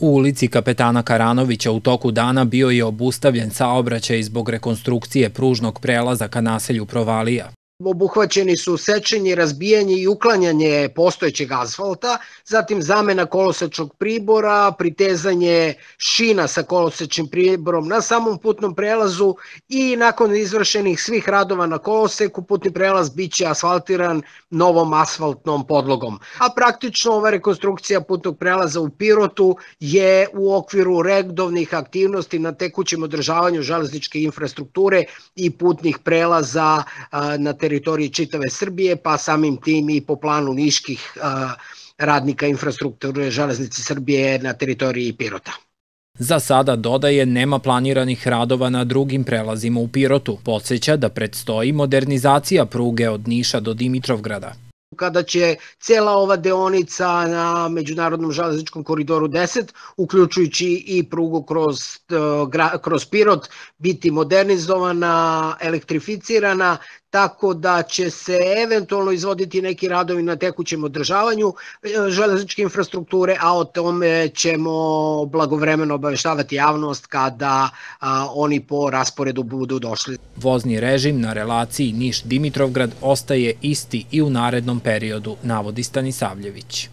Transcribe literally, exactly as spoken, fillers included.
U ulici Kapetana Karanovića u toku dana bio je obustavljen saobraćaj zbog rekonstrukcije pružnog prelaza ka naselju Provalija. Obuhvaćeni su sečenje, razbijanje i uklanjanje postojećeg asfalta, zatim zamena kolosečnog pribora, pritezanje šina sa kolosečnim priborom na samom putnom prelazu i nakon izvršenih svih radova na koloseku, putni prelaz biće asfaltiran novom asfaltnom podlogom. A praktično ova rekonstrukcija putnog prelaza u Pirotu je u okviru redovnih aktivnosti na tekućem održavanju železničke infrastrukture i putnih prelaza na teritoriji čitave Srbije, pa samim tim i po planu niških radnika infrastrukture Železnice Srbije na teritoriji Pirota. Za sada, dodaje, nema planiranih radova na drugim prelazima u Pirotu. Podseća da predstoji modernizacija pruge od Niša do Dimitrovgrada. Kada će cela ova deonica na međunarodnom železničkom koridoru deset, uključujući i prugu kroz, kroz Pirot, biti modernizovana, elektrificirana, tako da će se eventualno izvoditi neki radovi na tekućem održavanju železničke infrastrukture, a o tome ćemo blagovremeno obaveštavati javnost kada a, oni po rasporedu budu došli. Vozni režim na relaciji Niš-Dimitrovgrad ostaje isti i u narednom periodu, navodi Stanisavljević.